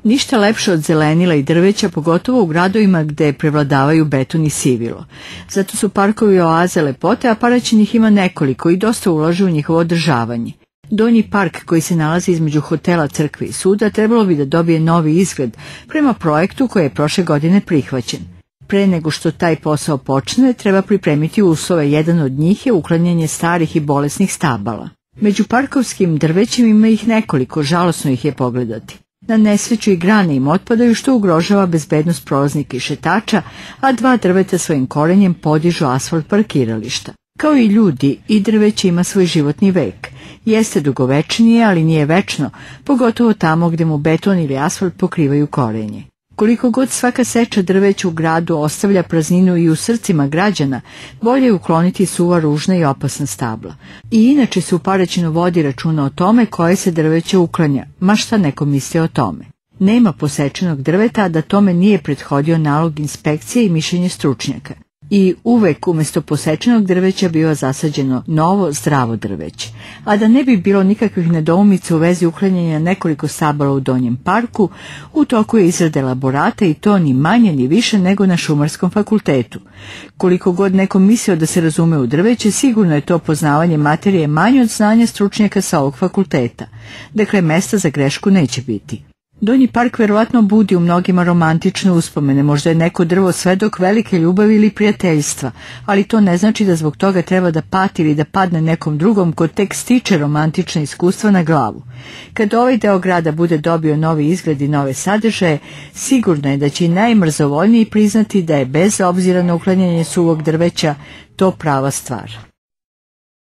Ništa lepše od zelenila i drveća, pogotovo u gradovima gde prevladavaju beton i sivilo. Zato su parkovi oaze lepote, a Paraćin ima nekoliko i dosta ulaže u njihovo održavanje. Donji park koji se nalazi između hotela, crkve i suda trebalo bi da dobije novi izgled prema projektu koji je prošle godine prihvaćen. Pre nego što taj posao počne, treba pripremiti uslove. Jedan od njih je uklanjanje starih i bolesnih stabala. Među parkovskim drvećima ima ih nekoliko, žalosno ih je pogledati. Na nesreću i grane im otpadaju, što ugrožava bezbednost prolaznika i šetača, a dva drveta svojim korenjem podižu asfalt parkirališta. Kao i ljudi, i drveće ima svoj životni vek. Jeste dugovečnije, ali nije večno, pogotovo tamo gde mu beton ili asfalt pokrivaju korenje. Koliko god svaka seča drveća u gradu ostavlja prazninu i u srcima građana, bolje je ukloniti suva, ružna i opasna stabla. I inače se u Paraćinu vodi računa o tome koje se drveće uklanja, ma šta neko misli o tome. Nema posečenog drveta, a da tome nije prethodio nalog inspekcije i mišljenje stručnjaka. I uvek umjesto posečenog drveća biva zasađeno novo, zdravo drveće. A da ne bi bilo nikakvih nedoumica u vezi uklanjanja nekoliko stabala u Donjem parku, u toku je izrada elaborata i to ni manje ni više nego na Šumarskom fakultetu. Koliko god neko mislio da se razume u drveće, sigurno je to poznavanje materije manje od znanja stručnjaka sa ovog fakulteta. Dakle, mesta za grešku neće biti. Donji park verovatno budi u mnogima romantične uspomene, možda je neko drvo svedok velike ljubavi ili prijateljstva, ali to ne znači da zbog toga treba da pati ili da padne nekom drugom ko tek stiče romantična iskustva na glavu. Kad ovaj deo grada bude dobio novi izgled i nove sadržaje, sigurno je da će i najmrzovoljniji priznati da je bez obzira na uklanjanje suvog drveća to prava stvar.